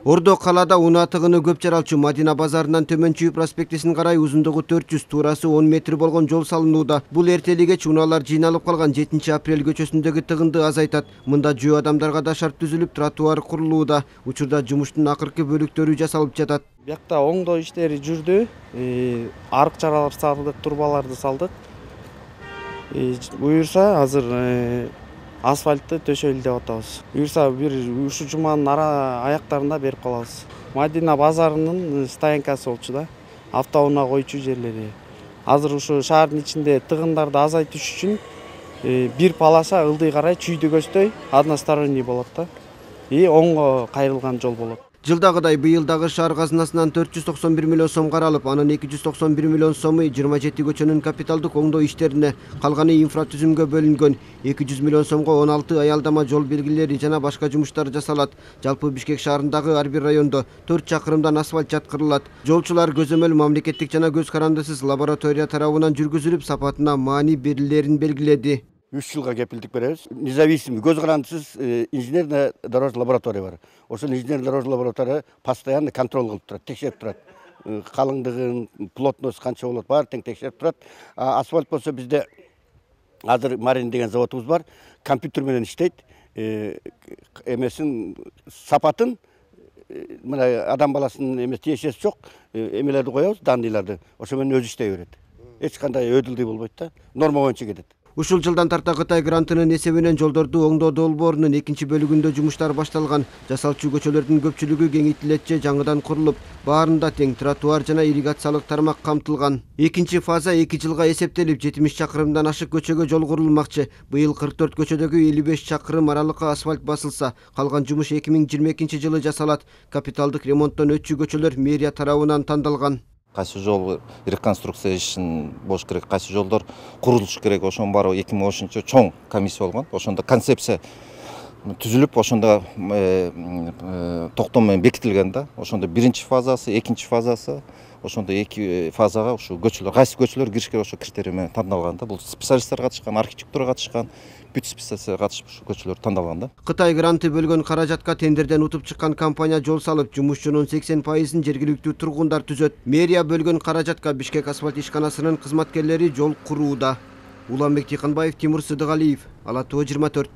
Ордо калаада унаа тыгыны көп жаралчу Мадина базарынан Төмөн Чүй проспектисин карай узундугу 400, туурасы 10 метр болгон жол салынууда. Бул эртелигеч унаалар жыйналып калган 7-апрель көчөсүндөгү тыгынды азайтат. Мында жөө адамдарга да шарт түзүлүп, тротуар курулууда. Учурда жумуштун акыркы бөлүктөрү жасалып жатат. Биякта оңдоо иштери жүрдү. Арык чаралар салдык, турбаларды салдык. Буюрса азыр асфальтты төшөйлү деп атабыз. Буюрса бир ушул жуманын аяктарында берип калабыз. Мадина базарынын стоянкасы болчу да, автоунаа койчу жерлери. Азыр ушу шаардын ичинде тыгындарды азайтыш үчүн бир полоса ылдый карай чүйдү көздөй односторонний болот да. Оңго кайрылган жол болот. Жылдагыдай быйыл дагы шаар казынасынан 491 миллион сом каралып, анын 291 миллион сому 27 көчөнүн капиталдык оңдоо иштерине, калганы инфратүзүмгө бөлүнгөн. 200 миллион сомго 16 аялдама жол белгилери жана башка жумуштар жасалат. Жалпы Бишкек шаарындагы ар бир райондо 4 чакырымдан асфальт жаткырылат. Жолчулар көзөмөл мамлекеттик жана көз карандысыз лаборатория тарабынан жүргүзүлүп, сапатына маани берилерин белгиледи. 3 жылга кепилдик беребиз. Независимый, көз карандысыз инженерная дорожная лаборатория бар. Ошол инженерная дорожная лаборатория постоянно контроль кылып турат, текшерип турат. Калыңдыгын, плотность канча болот, баары тең текшерип турат. Асфальт болсо бизде азыр Марин деген заводубуз бар, компьютер менен иштейт. Эмесин сапатын мына адам баласынын эмес тиешеси жок, эмелерди коебуз, данныйларды. Ошо менен өзү иштей берет. Эч кандай өдүлдүй болбойт да, норма боюнча кетет. Ушул жылдан тарта Кытай грантынын эсебинен жолдорду оңдоо долбоорунун 2-бөлүгүндө жумуштар башталган. Жасалчу көчөлөрдүн көпчүлүгү кеңейтилет же жаңыдан курулуп, баарында тең тротуар жана ирригациялык тармак камтылган. Экинчи фаза 2 жылга эсептелип, 70 чакырымдан ашык көчөгө жол курулмакчы. Быйыл 44 көчөдөгү 55 чакырым аралыкка асфальт басылса, калган жумуш 2022 жылы жасалат. Капиталдык ремонттон өтчү көчөлөр мэрия тарабынан тандалган. Кайсы жол реконструкция ишин болуш керек, кайсы жолдор курулуш керек, ошонун баары 2010 чоң комиссия болгон. Ошондо концепция түзүлүп, ошондо токтом менен бекитилген да. Ошондо биринчи фазасы, экинчи фазасы, ошондо 2 фазага ушу көчөлөр, кайсы көчөлөр кириш керек, ошо критерий менен тандалган да. Бул специалисттер катышкан, архитектура катышкан, бүт специалисттер катышып ушу көчөлөр тандалган да. Кытай гранты бөлгөн каражатка тендерден утуп чыккан компания жол салып, жумушчунун 80%ын жергиликтүү тургундар түзөт. Мэрия бөлгөн каражатка Бишкек асфальт ишканасынын кызматкерлери жол курууда. Уланбек Тыйканбаев, Тимур Сыдыгалиев, Ала Тоо 24.